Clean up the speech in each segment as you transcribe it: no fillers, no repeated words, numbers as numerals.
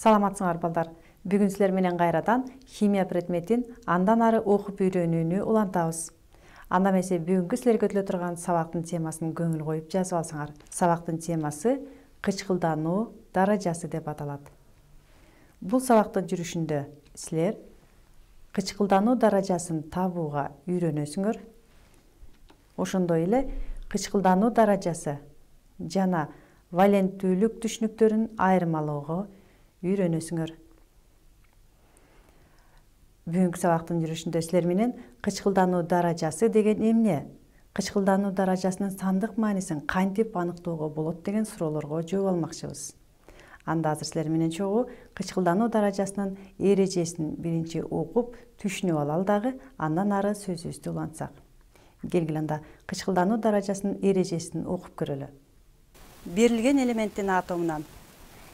Саламатсыңар балдар. Бүгүн силер менен кайрадан химия предметин андан ары окуп үйрөнүүнү улантабыз. Анда эмесе бүгүнкү силерге өтүлө турган сабактын темасын көңүл коюп жазып алсаңар. Сабактын темасы кычкылдануу даражасы деп аталат. Бул сабактын жүрүшүндө силер кычкылдануу даражасын табууга үйрөнөсүңөр. Ошондой эле кычкылдануу даражасы жана валенттүүлүк түшүнүктөрүн айырмалоого үйрөнөсүңөр. Бүгүнкү сабактын жүрүшүндө силер менен кычкылдануу даражасы деген эмне? Кычкылдануу даражасынын сандык маанисин кантип аныктоого болот деген суроолорго жооп алмакчыбыз. Анда азыр силер менен чогуу кычкылдануу даражасынын эрежесин биринчи окуп, түшүнүп алалы дагы, андан ары сөзүбүздү улантсак. Келгиле анда кычкылдануу даражасынын эрежесин окуп көрөлү. Берилген элементтин атомунан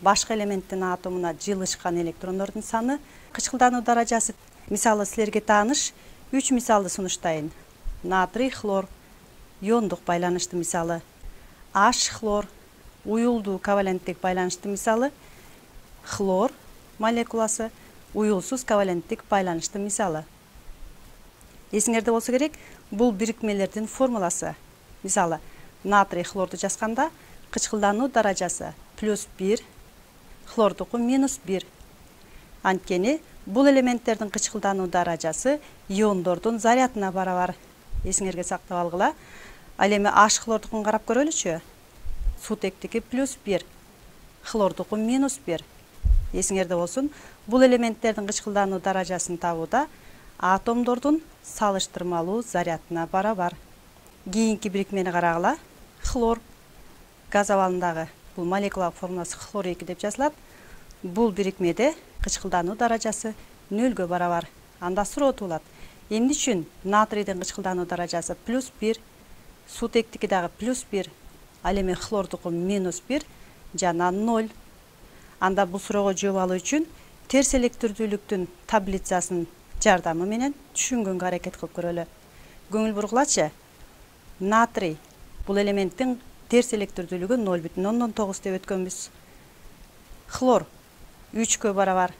башка элементтин атомуна жылышкан электрондордун саны кычкылдануу даражасы. Мисалы силерге тааныш 3 мисалды сунуштайын. Натрий, хлор, иондук байланышты мисалы. H хлор, уюлдуу коваленттик байланыштын мисалы. Хлор молекуласы, уюлсуз коваленттик байланыштын мисалы. Эсиңерде болсо керек, бул бирикмелердин формуласы. Мисалы, натрий хлорду жазганда кычкылдануу даражасы +1, хлордуку -1. Анткени бул элементтердин кычкылдануу даражасы иондордун зарядына барабар. Эсиңерге сактап алгыла. Ал эми H хлордукун карап көрөлүчү. Сутектики +1, хлордуку -1. Эсиңерде болсун, бул элементтердин кычкылдануу даражасын табууда атомдордун салыштырмалуу зарядына барабар. Кийинки бирикмени карагыла. Хлор газ абалындагы бул молекулалык формуласы хлор 2 деп жазылат. Бул бирикмеде кычкылдануу даражасы 0-гө барабар. Анда суроо туулат. Эмне үчүн натрийдин кычкылдануу даражасы +1, сутектики дагы +1, ал эми хлордуку -1 жана 0. Анда бул суроого жооп алуу үчүн терс электирдүүлүктүн таблицасын жардамы менен түшүнгөнгө аракет кылып көрөлү. Көңүл бургулачы. Натрий бул элементтин терс электирдүүлүгү 0,9 деп өткөнбүз. Хлор 3-кө барабар.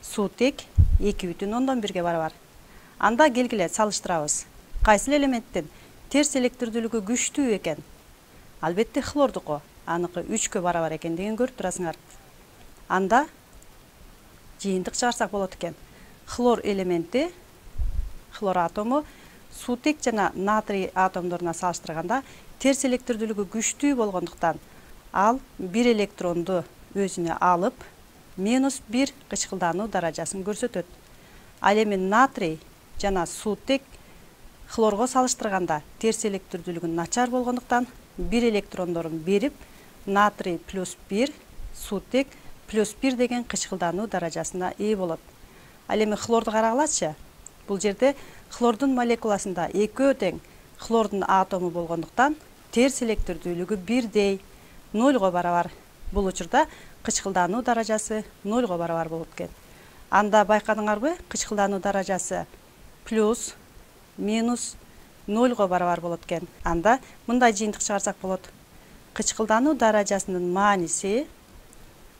Сутек 2,1-ге барабар. Анда келгиле салыштырабыз. Кайсы элементтин терс электирдүүлүгү күчтүү экен? Албетте хлордуку. Аныкы 3-кө барабар экендигин көрүп турасыңар. Анда жыйынтык чыгарсак болот экен. Хлор элементи, хлор атому сутек жана натрий атомдоруна салыштырганда терс электирдүүлүгү күчтүү болгондуктан ал бир электронду өзүнө алып, -1 кычкылдануу даражасын көрсөтөт. Ал эми натрий жана сутек хлорго салыштырганда терс электирдүүлүгү начар болгондуктан бир электрондорун берип, натрий +1, сутек +1 деген кычкылдануу даражасына ээ болот. Ал эми хлорду карагылачы. Бул жерде хлордун молекуласында экөө тең хлордун атому болгондуктан терс электирдүүлүгү бирдей 0-го барабар. Бул учурда кычкылдануу даражасы 0-го барабар болот экен. Анда байкадыңарбы? Кычкылдануу даражасы плюс, минус 0-го барабар болот экен. Анда мындай жыйынтык чыгарсак болот. Кычкылдануу даражасынын мааниси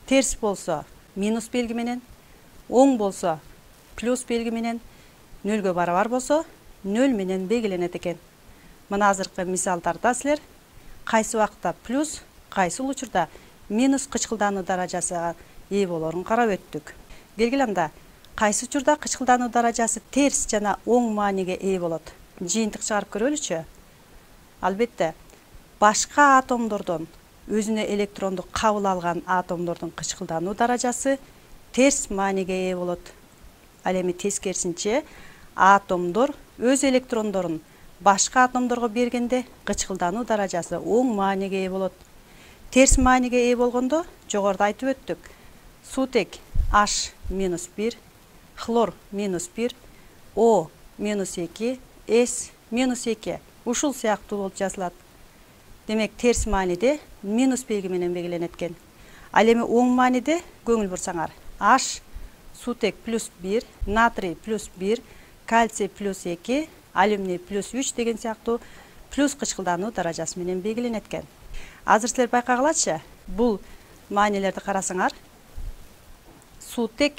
терс болсо минус белги менен, оң болсо плюс белги менен, 0-гө барабар болсо 0 менен белгиленет экен. Мына азыркы мисалдарда силер кайсы убакытта плюс, кайсы учурда минус кычкылдануу даражасына ээ болоорун карап өттүк. Келгиле анда кайсы учурда кычкылдануу даражасы терс жана оң мааниге ээ болот? Жыйынтык чыгарып көрөлүчү. Албетте, башка атомдордон өзүнө электронду кабыл алган атомдордун кычкылдануу даражасы терс мааниге ээ болот. Ал эми тескерисинче атомдор өз электрондорун башка атомдорго бергенде кычкылдануу даражасы оң мааниге ээ болот. Терс мааниге ээ болгондо жогоруда айтып өттүк. Сутек H -1, хлор -1, O -2, S -2 ушул сыяктуу болуп жазылат. Демек терс мааниде минус белги менен белгиленет экен. Ал эми оң мааниде көңүл бурсаңар. H сутек +1, натрий +1, кальций +2, алюминий +3 деген сыяктуу плюс кычкылдануу даражасы менен белгиленет экен. Азыр силер байкагылачы, бул маанилерди карасаңар, суутек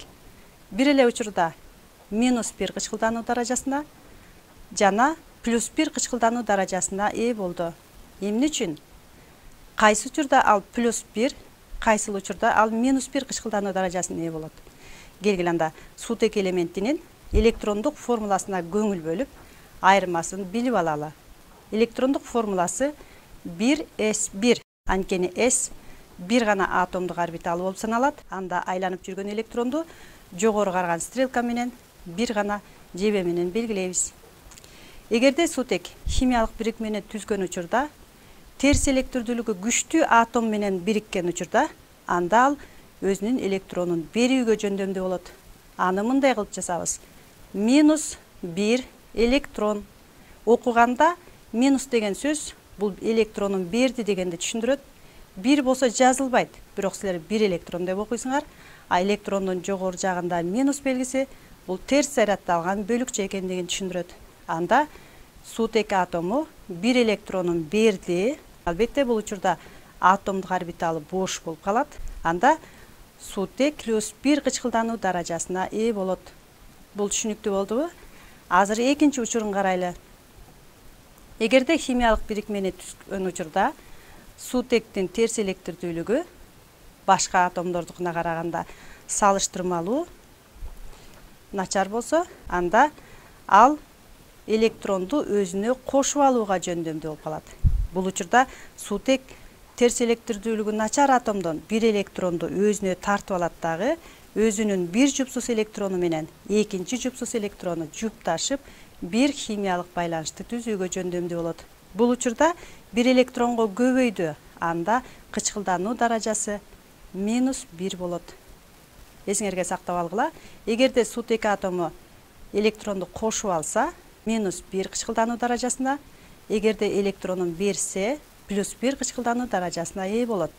бир эле учурда -1 кычкылдануу даражасына жана +1 кычкылдануу даражасына ээ болду. Эмне үчүн? Кайсы учурда ал +1, кайсыл учурда ал -1 кычкылдануу даражасына ээ болот? Келгиле анда суутек элементинин электрондук формуласына көңүл бөлүп, айырмасын билип алалы. Электрондук формуласы 1s1. Анткени s бир гана атомдук орбиталы болуп саналат. Анда айланып жүргөн электронду жогору караган стрелка менен бир гана жебе менен белгилейбиз. Эгерде суутек химиялык бирикмени түзгөн учурда терс электрдүүлүгү күчтүү атом менен бириккен учурда, анда ал өзүнүн электронун берүүгө жөндөмдүү болот. Аны мындай кылып жасабыз. -1 электрон. Окуганда минус деген сөз бул электронун берди дегенди түшүндүрөт. 1 болсо жазылбайт, бирок силер 1 электрон деп окуйсуңар. А электрондун жогору жагында минус белгиси бул терс заряддалган бөлүкчө экендигин түшүндүрөт. Анда суутек атому 1 электронун берди. Албетте бул учурда атомдук орбиталы бош болуп калат. Анда суутек +1 кычкылдануу даражасына ээ болот. Бул түшүнүктүү болдубу? Азыр экинчи учурун карайлы. Эгерде химиялык бирикмени түзгөн учурда суутектин терс электрдүүлүгү башка атомдордукуна караганда салыштырмалуу начар болсо, анда ал электронду өзүнө кошуп алууга жөндөмдүү болуп калат. Бул учурда суутек терс электрдүүлүгү начар атомдон 1 электронду өзүнө тартып алат дагы, өзүнүн бир жупсус электрону менен экинчи жупсус электрону жупташып, бир химиялык байланышты түзүүгө жөндөмдүү болот. Бул учурда бир электронго көбөйдү, анда кычкылдануу даражасы -1 болот. Эсиңерге сактап алгыла. Эгерде суутек атому электронду кошуп алса, -1 кычкылдануу даражасына, эгерде электронун берсе, +1 кычкылдануу даражасына ээ болот.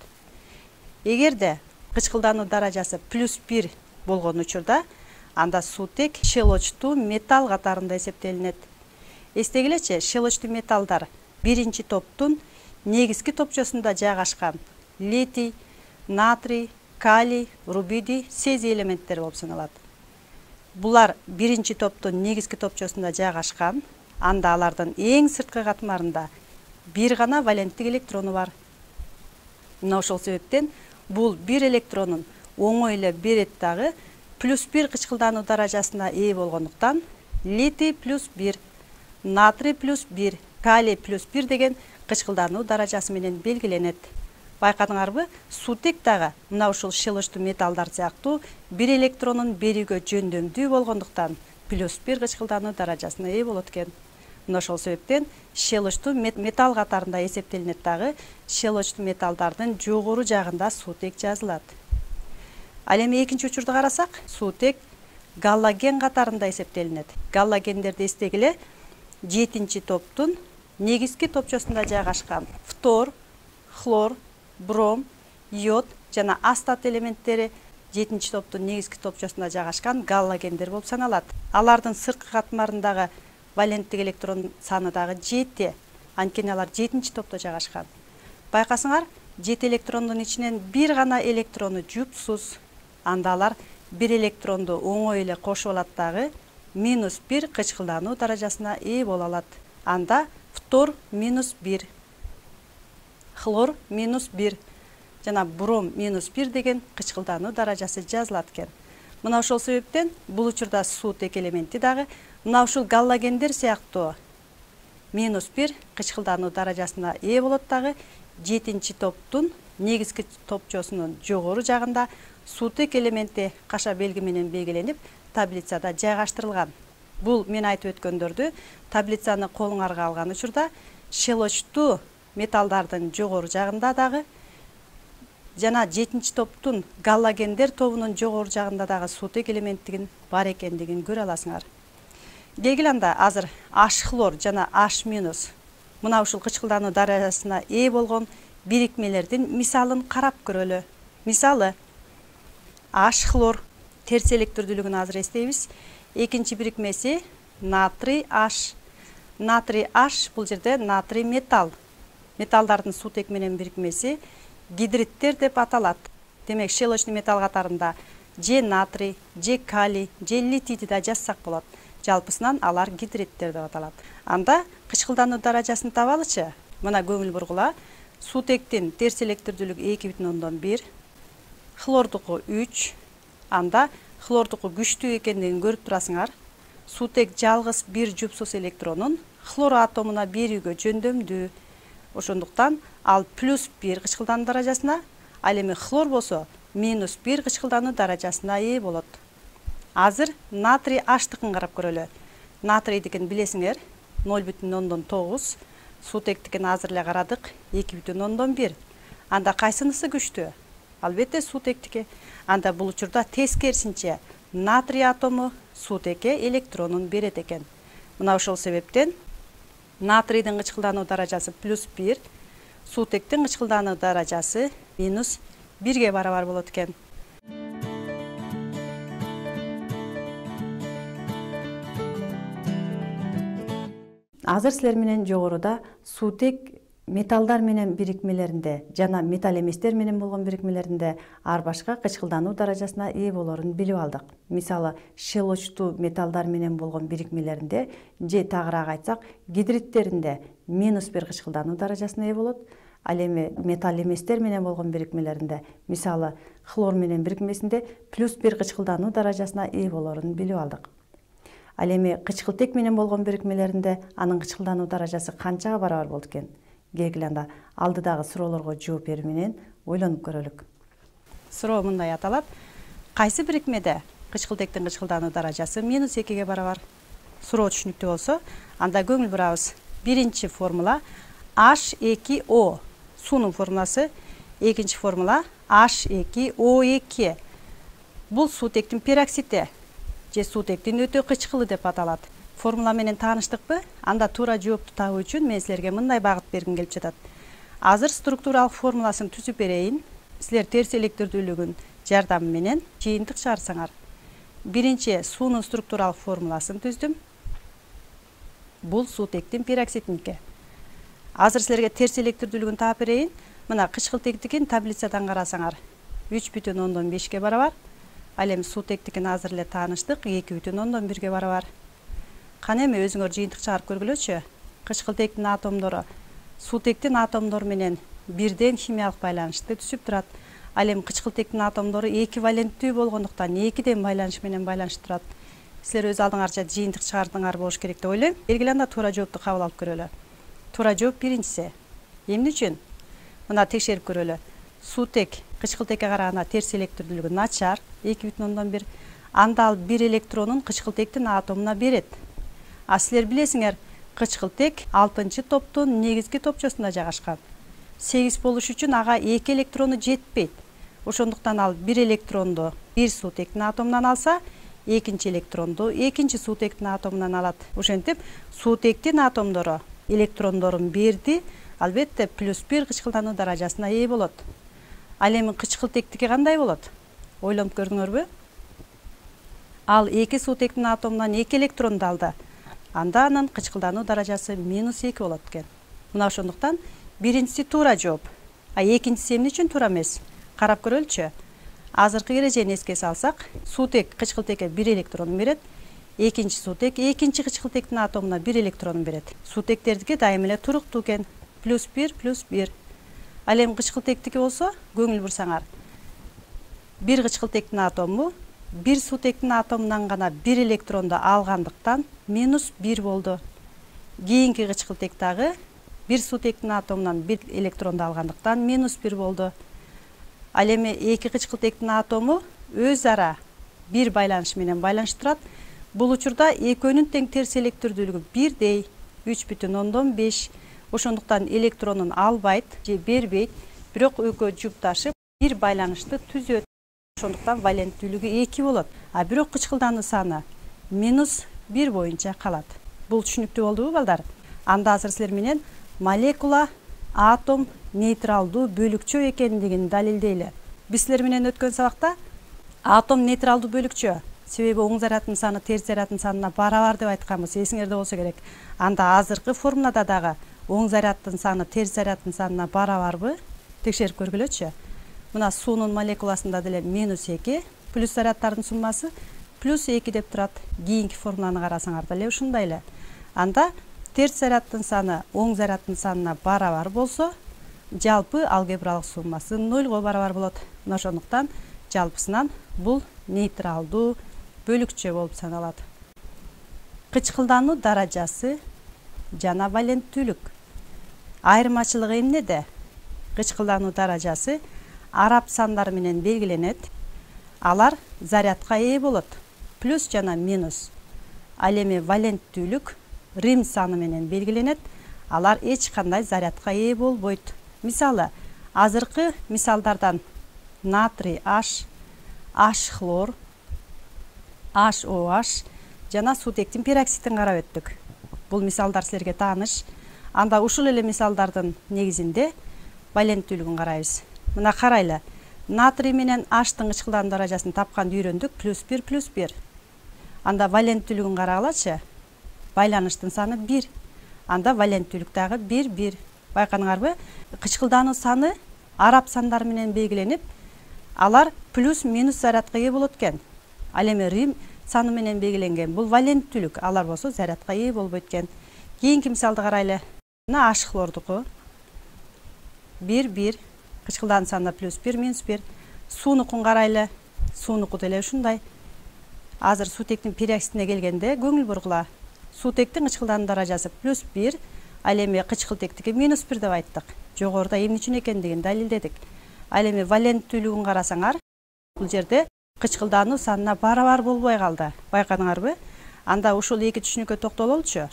Эгерде кычкылдануу даражасы +1 болгон учурда, анда суутек щелочтуу металл катарында эсептелинет. Эстегилечи, щелочтуу металлдар биринчи топтун негизги топчосунда жайгашкан литий, натрий, калий, рубидий, цезий элементтери болуп саналат. Булар биринчи топтун негизги топчосунда жайгашкан, анда алардын эң сырткы катмарында бир гана валенттик электрону бар. Мына ошол себептен бул бир электронун оңой эле берет дагы +1 кычкылдануу даражасына ээ болгондуктан литий +1, натрий +1, калий +1 деген кычкылдануу даражасы менен белгиленет. Байкадыңарбы? Суутек дагы мына ушул щелочтуу металлдар сыяктуу бир электронун берүүгө жөндөмдүү болгондуктан +1 кычкылдануу даражасына ээ болот экен. Мына ошол себептен щелочтуу металл катарында эсептелинет дагы, щелочтуу металлдардын жогору жагында суутек жазылат. Ал эми экинчи учурду карасак, суутек галлоген катарында эсептелинет. Галлогендерди эстегиле, 7-чи топтун негизги топчосунда жайгашкан фтор, хлор, бром, йод жана астат элементтери 7-чи топтун негизги топчосунда жайгашкан галлогендер болуп саналат. Алардын сырткы катмарындагы валенттик электрон саны дагы 7, анткени алар 7-чи топто жайгашкан. Байкасыңар, 7 электрондун ичинен бир гана электрону жупсуз, анда алар бир электронду оңой эле кошуп алат дагы, -1 кычкылдануу даражасына ээ боло алат. Анда фтор -1, хлор -1 жана бром -1 деген кычкылдануу даражасы жазылат экен. Мына ошол себептен бул учурда суутек элементи дагы мына ушул галлогендер сыяктуу -1 кычкылдануу даражасына ээ болот дагы, 7-чи топтун негизги топчосунун жогору жагында суутек элементи каша белги менен белгиленип, таблицада жайгаштырылган. Бул мен айтып өткөндөрдү таблицаны колуңарга алган учурда щелочтуу металлдардын жогору жагында дагы жана 7-чи топтун галлогендер тобунун жогору жагында дагы суутек элементигин бар экендигин көрө аласыңар. Келгиле анда азыр H хлор жана H-, мына ушул кычкылдануу даражасына ээ болгон бирикмелердин мисалын карап көрөлү. Мисалы H хлор терс электрдүүлүгүн азыр эстейбиз. Экинчи бирикмеси натрий H. Натрий H бул жерде натрий металл. Металлдардын суутек менен бирикмеси гидриттер деп аталат. Демек, щелочный металл катарында же натрий, же калий, же литийди да жазсак болот. Жалпысынан алар гидриттер деп аталат. Анда кычкылдануу даражасын табалычы. Мына көңүл бургула. Суутектин терс электрлүүлүгү 2,1, хлордуку 3. Анда хлордуку күчтүү экендигин көрүп турасыңар. Суутек жалгыз бир жупсуз электронун хлор атомуна берүүгө жөндөмдүү. Ошондуктан ал +1 кычкылдануу даражасына, ал эми хлор болсо -1 кычкылдануу даражасына ээ болот. Азыр натрий H-тыкын карап көрөлү. Натрийдикин билесиңер 0,9, суутектикин азыр эле карадык 2,1. Анда кайсынысы күчтүү? Албетте суутектики. Анда бул учурда тескерисинче натрий атому суутекке электронун берет экен. Мына ошол себептен натрийдин кычкылдануу даражасы +1, суутектин кычкылдануу даражасы -1ге барабар болот экен. Азыр силер менен жогоруда суутек металлдар менен бирикмелеринде жана металл эместер менен болгон бирикмелеринде ар башка кычкылдануу даражасына ээ болорун билип алдык. Мисалы, шелочтуу металлдар менен болгон бирикмелеринде же тагыраак айтсак, гидриттеринде -1 кычкылдануу даражасына ээ болот. Ал эми металл эместер менен болгон бирикмелеринде, мисалы, хлор менен бирикмесинде +1 кычкылдануу даражасына ээ болорун билип алдык. Ал эми кычкылтек менен болгон бирикмелеринде анын кычкылдануу даражасы канчага барабар болот экен? Келгиле анда алдыдагы суроолорго жооп берүү менен ойлонуп көрөлүк. Суроо мындай аталат. Кайсы бирикмеде кычкылтектин кычкылдануу даражасы -2ге барабар? Суроо түшүнүктүү болсо, анда көңүл бурабыз. Биринчи формула H2O. Суунун формуласы. Экинчи формула H2O2. Бул суутектин пероксиди же суутектин өтө кычкылы деп аталат. Формула менен тааныштыкпы? Анда туура жоопту табуу үчүн мен силерге мындай багыт бергим келип жатат. Азыр структуралык формуласын түзүп берейин. Силер терс электрлүүлүгүн жардамы менен жыйынтык чыгарсаңар. Биринчи суунун структуралык формуласын түздүм. Бул суутектин пероксидиники. Азыр силерге терс электрлүүлүгүн таап берейин. Мына кычкылтектикин таблицадан карасаңар 3,5ге барабар. Ал эми суутектикин азыр эле тааныштык 2,1ге барабар. Кана эми өзүңөр жыйынтык чыгарып көргүлөчү. Кычкылтектин атомдору суутектин атомдору менен бирден химиялык байланышты түзүп турат. Ал эми кычкылтектин атомдору эквиваленттүү болгондуктан 2ден байланыш менен байланышып турат. Силер өз алдыңарча жыйынтык чыгардыңар болуш керек деп ойлойм. Белгиле анда туура жоопту кабыл алып көрөлү. Туура жооп биринчиси. Эмне үчүн? Мына текшерип көрөлү. Суутек кычкылтекке караганда терс электрлүүлүгү начар 2,1. Анда ал бир электронун кычкылтектин атомуна берет. А силер билесиңер, кычкылтек 6-топтун негизги топчосунда жайгашкан. 8 болуш үчүн ага 2 электрону жетпейт. Ошондуктан ал бир электронду бир суутектин атомунан алса, экинчи электронду экинчи суутектин атомунан алат. Ошентип, суутектин атомдору электрондорун берди, албетте +1 кычкылдануу даражасына ээ болот. Ал эми кычкылтектики кандай болот? Ойлонуп көрдүңөрбү? Ал 2 суутектин атомунан 2 электронду алды. Анда анын кычкылдануу даражасы -2 болот экен. Мына ошондуктан биринчиси туура жооп. А экинчиси эмне үчүн туура эмес? Карап көрөлүчү. Азыркы эрежени эске салсак, суутек кычкылтекке 1 электрон берет, экинчи суутек экинчи кычкылтектин атомуна 1 электрон берет. Суутектердики дайым эле туруктуу экен. +1+1. Ал эми кычкылтектики болсо, көңүл бурсаңар. Бир кычкылтектин атому бир суутектин атомунан гана 1 электронду алгандыктан -1 болду. Кийинки кычкылтек дагы бир суутектин атомунан 1 электронду алгандыктан -1 болду. Ал эми эки кычкылтектин атому өз ара бир байланыш менен байланышып турат. Бул учурда экөөнүн тең терс электрлүүлүгү бирдей 3,5. Ошондуктан электронун албайт же бербейт, бирок экөө жупташып бир байланышты түзөт. Ошондуктан валенттүүлүгү 2 болот. А бирок кычкылдануу саны -1 боюнча калат. Бул түшүнүктүү болдубу балдар? Анда азыр силер менен молекула, атом нейтралдуу бөлүкчө экендигин далилдейли. Биз силер менен өткөн сабакта атом нейтралдуу бөлүкчө, себеби оң зарядтын саны терс зарядтын санына барабар деп айтканбыз, эсиңерде болсо керек. Анда азыркы формулада дагы оң зарядтын саны терс зарядтын санына барабарбы? Текшерип көргүлөчү. Мына суунун молекуласында деле -2, плюс заряддардын суммасы плюс 2 деп турат. Кийинки формуланы карасаңар деле ушундай эле. Анда терс заряддын саны оң заряддын санына барабар болсо, жалпы алгебралык суммасы 0 барабар болот. Мына ошондуктан жалпысынан бул нейтралдуу бөлүкчө болуп саналат. Кычкылдануу даражасы жана валенттүүлүк. Айырмачылыгы эмнеде? Кычкылдануу даражасы араб сандары менен белгиленет. Алар зарядка ээ болот. Плюс жана минус. Ал эми валенттүүлүк рим саны менен белгиленет. Алар эч кандай зарядка ээ болбойт. Мисалы, азыркы мисалдардан натрий H, H хлор, HOH жана суутектин пероксидин карап өттүк. Бул мисалдар силерге тааныш. Анда ушул эле мисалдардын негизинде валенттүүлүгүн карайбыз. Мына карайлы. Натрий менен H-тын кычкылдануу даражасын тапканды үйрөндүк. +1 +1. Анда валенттүүлүгүн карагалачы. Байланыштын саны 1. Анда валенттүүлүк дагы 1 1. Байкадыңарбы? Кычкылдануу саны араб сандары менен белгиленип, алар плюс минус зарядка ээ болот экен. Ал эми рим саны менен белгиленген. Бул валенттүүлүк. Алар болсо зарядка ээ болбойт экен. Кийинки мисалды карайлы. Мына H хлордуку 1 1. Кычкылдануу саны +1 -1. Суунукун карайлы. Суунуку деле ушундай. Азыр суутектин пероксидине келгенде көңүл бургула. Суутектин кычкылдануу даражасы +1, ал эми кычкылтектики -1 деп айттык. Жогоруда эмне үчүн экендигин далилдедик. Ал эми валенттүүлүгүн карасаңар, бул жерде кычкылдануу санына барабар болбой калды. Байкадыңарбы? Анда ушул эки түшүнүккө токтололчу.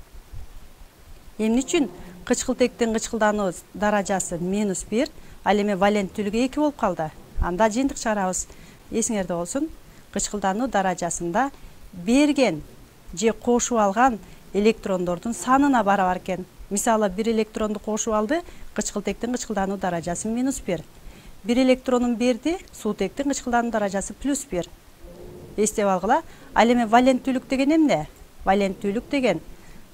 Эмне үчүн кычкылтектин кычкылдануу даражасы -1, ал эми валенттүүлүгү 2 болуп калды. Анда жыйынтык чыгарабыз. Эсиңерде болсун, кычкылдануу даражасында берген же кошуп алган электрондордун санына барабар экен. Мисалы, 1 электронду кошуп алды, кычкылтектин кычкылдануу даражасы -1. 1 электронун берди, суутектин кычкылдануу даражасы +1. Эстеп алгыла. Ал эми валенттүүлүк деген эмне? Валенттүүлүк деген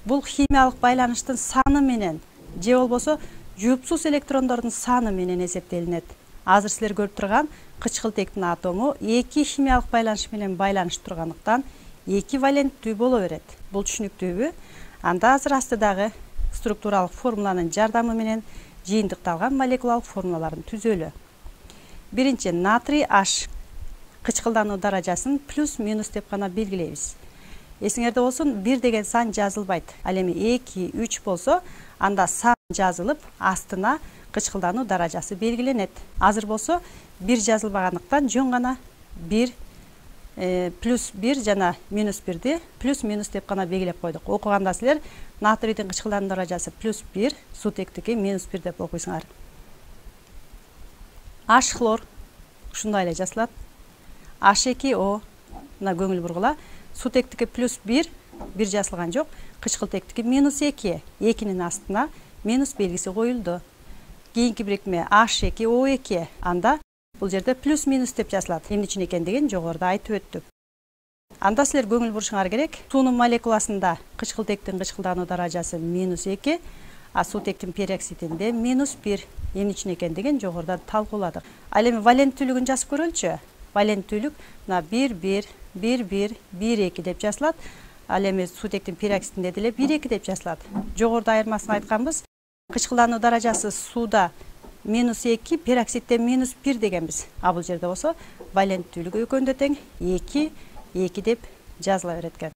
бул химиялык байланыштын саны менен же болбосо жуупсуз электрондордун саны менен эсептелинет. Азыр силер көрүп турган кычкылтектин атому 2 химиялык байланыш менен байланышып тургандыктан 2 валенттүү боло берет. Бул түшүнүктүүбү? Анда азыр астыдагы структуралык формуланын жардамы менен жыйынтыкталган молекулалык формулаларын түзөлү. Биринчи, натрий H кычкылдануу даражасын +- деп гана белгилейбиз. Эсиңерде болсун, 1 деген сан жазылбайт. Ал эми 2, 3 болсо, анда сан жазылып, астына кычкылдануу даражасы белгиленет. Азыр болсо 1 жазылбагандыктан жөн гана 1 +1 жана -1ди +- деп гана белгилеп койдук. Окуганда силер натрийдин кычкылдануу даражасы +1, суутектики -1 деп окуйсуңар. H хлор ушундай эле жазылат. H2O мына көңүл бургула. Суутектики +1, 1 жазылган жок. Кычкылтектики -2, 2нин астына минус белгиси коюлду. Кийинки бирикме H2O2. Анда бул жерде +- деп жазылат. Эмне үчүн экендигин жогоруда айтып өттүк. Анда силер көңүл бурушуңар керек. Суунун молекуласында кычкылтектин кычкылдануу даражасы -2, а суутектин пероксидинде -1. Эмне үчүн экендигин жогоруда талкууладык. Ал эми валенттүүлүгүн жазып көрөлүчү. Валенттүүлүк мына 1 1 1 1 1 2 деп жазылат. Ал эми суутектин пероксидинде деле 1 2 деп жазылат. Жогоруда айырмасын айтканбыз. Кычкылдануу даражасы сууда -2, пероксидде -1 дегенбиз. А бул жерде болсо валенттүүлүгү экөөндө тең 2 2 деп жазыла берет экен.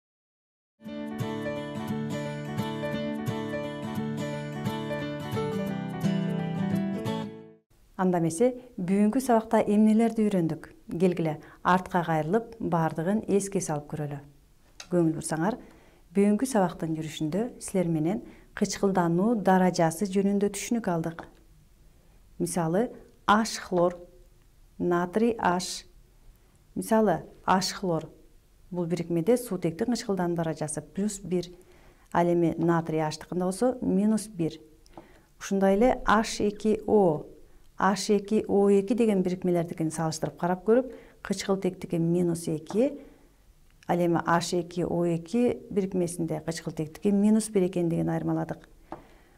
Анда эмесе бүгүнкү сабакта эмнелерди үйрөндүк? Келгиле артка кайрылып баардыгын эске салып көрөлү. Көңүл бурсаңар, бүгүнкү сабактын жүрүшүндө силер менен кычкылдануу даражасы жөнүндө түшүнүк алдык. Мисалы, H хлор, натрий H. Мисалы, H хлор бул бирикмеде суутектин кычкылдануу даражасы +1. Ал эми натрий H-тыкында болсо -1. Ушундай эле H2O, H2O2 деген бирикмелердикин салыштырып карап көрүп, кычкылтектики -2, ал эми H2O2 бирикмесинде кычкылтектики -1 экендигин айырмаладык.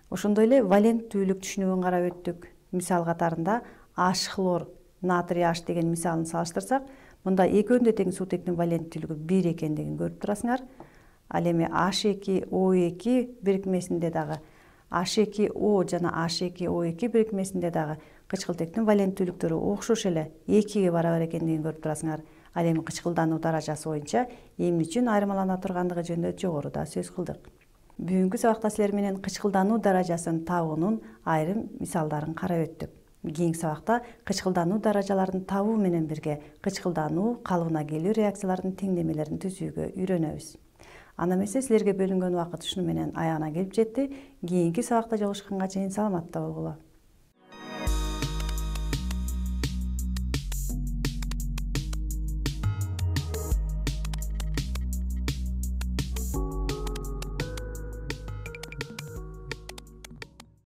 Ошондой эле валенттүүлүк түшүнүгүн карап өттүк. Мисал катарында H хлор, натрий H деген мисалын салыштырсак, Мында экөөнүн да тең суутектин валенттүүлүгү 1 экендигин көрүп турасыңар. Ал эми H2O2 бирикмесинде дагы H2O жана H2O2 бирикмесинде дагы кычкылтектин валенттүүлүктөрү окшош эле 2-ге барабар экендигин көрүп турасыңар. Ал эми кычкылдануу даражасы боюнча эмне үчүн айырмалана тургандыгы жөнүндө жогоруда сөз кылдык. Бүгүнкү сабакта силер менен кычкылдануу даражасын табуунун айрым мисалдарын карап өттүк. Кийинки сабакта кычкылдануу даражаларын табуу менен бирге кычкылдануу калыбына келүү реакцияларынын теңдемелерин түзүүгө үйрөнөбүз. Анда эмесе силерге бөлүнгөн убакыт ушуну менен аягына келип жетти. Кийинки сабакта жолугушканга чейин саламатта болгула.